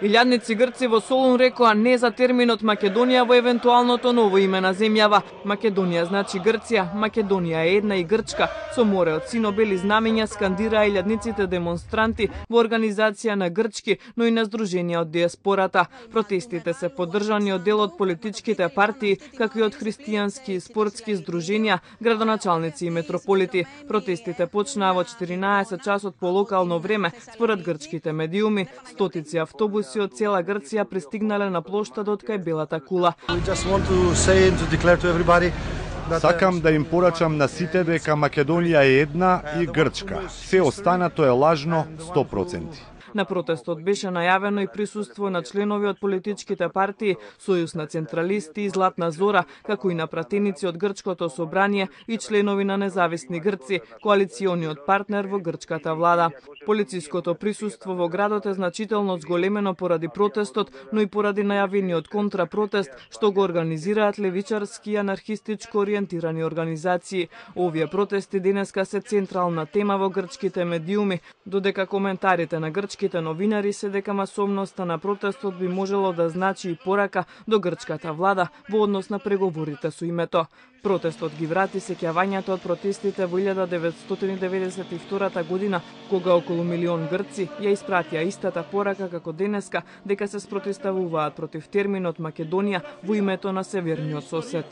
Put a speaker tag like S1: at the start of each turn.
S1: Илјадници грци во Солун рекоа не за терминот Македонија во евентуалното ново име на земјава. Македонија значи Грција, Македонија е една и Грчка. Со море од сино-бели знамења скандираа илјадниците демонстранти во организација на грчки, но и на здруженија од диаспората. Протестите се поддржани од дел од политичките партии, како и од христијански и спортски здруженја, градоначалници и метрополити. Протестите почнаа во 14 часот по локално време, според грчките медиуми. Стотици автобуси од цела Грција пристигнале на плоштадот кај Белата кула.
S2: Сакам да им порачам на сите дека Македонија е една и Грчка. Се останато е лажно 100%.
S1: На протестот беше најавено и присуство на членови од политичките партии Сојуз на централисти и Златна зора, како и на пратеници од Грчкото собрание и членови на Независни Грци, коалициониот партнер во грчката влада. Полициското присуство во градот е значително зголемено поради протестот, но и поради најавениот контрапротест што го организираат левичарски и анархистичко ориентирани организации. Овие протести денеска се централна тема во грчките медиуми, додека коментарите на грчките новинари се дека масовноста на протестот би можело да значи и порака до грчката влада во однос на преговорите со името. Протестот ги врати сеќавањето од протестите во 1992 година, кога околу милион грци ја испратија истата порака како денеска дека се спротивставуваат против терминот Македонија во името на северниот сосед.